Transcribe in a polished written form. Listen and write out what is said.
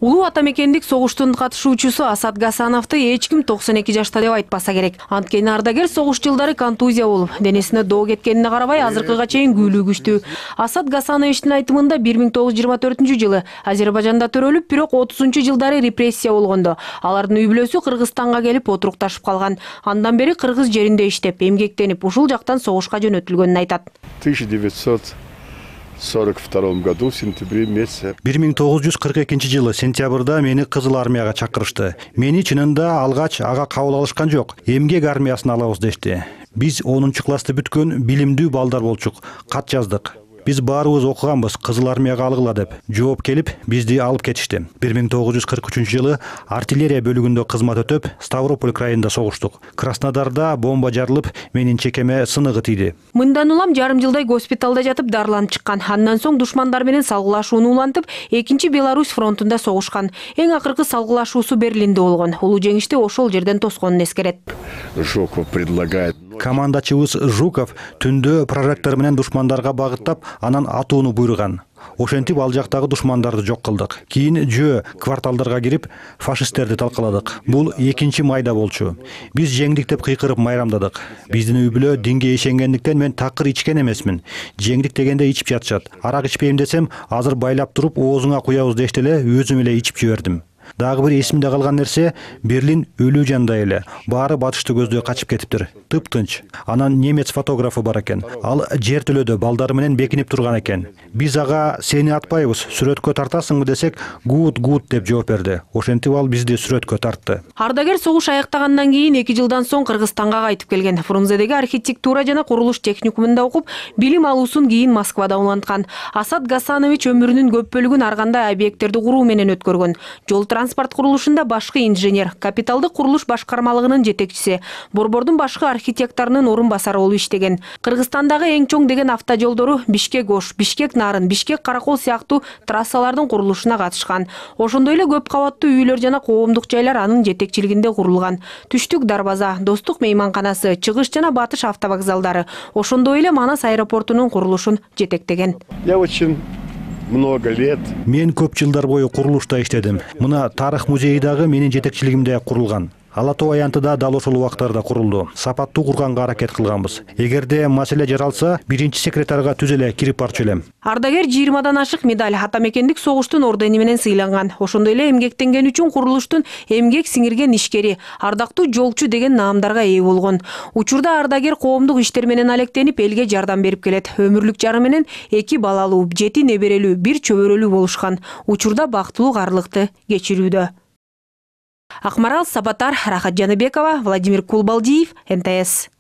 Улуу ата мекендик согуштун катышуучусу Асат Гасановду эч ким 92 жашта деп айтпаса керек. Анткени ардагер согуш жылдары контузия болуп, денесине доо кеткенине карабай азыркыга чейин күйлүү күчтүү. Асат Гасановичтин айтымында 1924-жылы Азербайжанда төрөлүп, бирок 30-жылдары репрессия болгондо алардын үй бүлөсү Кыргызстанга келип отурукташып калган. Андан бери кыргыз жеринде иштеп, эмгектенип, ушул жактан согушка жөнөтүлгөнүн айтат. 1942 году в сентябре месяце. 1942 сентябрда мени Кызыл армияга чакырышты. Мени чынында алгач ага кабыл алышкан жок. Эмгек армиясына алабыз дешти. Биз 10-классты бүткөн билимдүү балдар болчук. Кат жаздык. Биз баарыбыз окуганбыз, Кызыл армияга алгыла деп. Жооп келип, бизди алып кетишти. 1943-жылы артиллерия бөлүгүндө кызмат өтөп, Ставрополь крайында согуштук. Краснодарда бомба жарылып, менин чекеме сыныгы тийди. Мындан улам жарым жылдай госпиталда жатып дарыланып чыккан. Андан соң душмандар менен салгылашууну улантып, 2 Беларусь фронтунда согушкан. Эң акыркы салгылашуусу Берлинде болгон. Улуу жеңишти ошол жерден тосконун эскерет. Жуков предлагает. Командачыбыз Жуков түндө прожектор менен душмандарга багыттап, анан атууну буйруган. Ошентип ал жактагы душмандарды жок кылдык. Кийин жөө кварталдарга кирип, фашисттерди талкаладык. Бул 2 майда болчу. Биз жеңдик деп кыйкырып майрамдадык. Биздин үй бүлө динге ишенгендиктен мен такыр ичкен эмесмин. Жеңдик дегенде ичип жатышат. Арак ичпейм десем, азыр байлап туруп оозуңа куябыз дешти эле, өзүм эле ичип жибердим. Дагы бир эсимде калган нерсе, Берлин өлүү жандай эле. Баары батышты көздөй качып кетиптир. Тыптынч. Анан немец фотографы бар экен. Ал жертөлөдө балдары менен бекинип турган экен. Биз ага сени атпайбыз, сүрөткө тартасыңбы десек, гуд деп жооп берди. Ошентип ал бизди сүрөткө тартты. Ардагер согуш аяктагандан кийин 2 жылдан соң Кыргызстанга кайтып келген. Фрунзедеги архитектура жана курулуш техникумунда окуп, билим алуусун кийин Москвада уланткан. Асат Гасанович өмүрүнүн көп бөлүгүн ар кандай объекттерди куруу менен өткөргөн. Жол транспорт курулушунда башкы инженер, капиталдык курулуш башкармалыгынын жетекчиси, борбордун башкы архитекторунун орун басары болуп иштеген. Кыргызстандагы эң чоң деген автожолдору Бишкек-Ош, Бишкек-Нарын, Бишкек-Каракол сыяктуу трассалардын курулушуна катышкан. Ошондой эле көп кабаттуу үйлөр жана коомдук жайлар анын жетекчилигинде курулган. Түштүк дарбаза, Достук мейманканасы, чыгыш жана батыш автовокзалдары, ошондой эле Манас аэропортунун курулушун жетектеген. Я очень много лет. Мен көп жылдар бою курулушта иштедим. Мына тарых музейи дагы менин жетекчилигимде курулган. Ала Тоо аянтыда дал ошол убактарда курулду. Сапаттуу курганга аракет кылганбыз. Эгерде маселе жаралса, биринчи секретарга түз эле кирип барчу элем. Ардагер 20дан ашык медаль, ата мекендик согуштун ордени менен сыйланган. Ошондой эле эмгектенген үчүн курулуштун эмгек сиңирген ишкери, ардактуу жолчу деген наамдарга ээ болгон. Учурда ардагер коомдук иштер менен алектенип, элге жардам берип келет. Өмүрлүк жары менен 2 балалуу, 7 неберелүү, 1 чөбөрөлүү болушкан. Учурда бактылуу карлыкты кечирүүдө. Акмарал Сабатар, Рахат Жаныбекова, Владимир Кулбалдиев, НТС.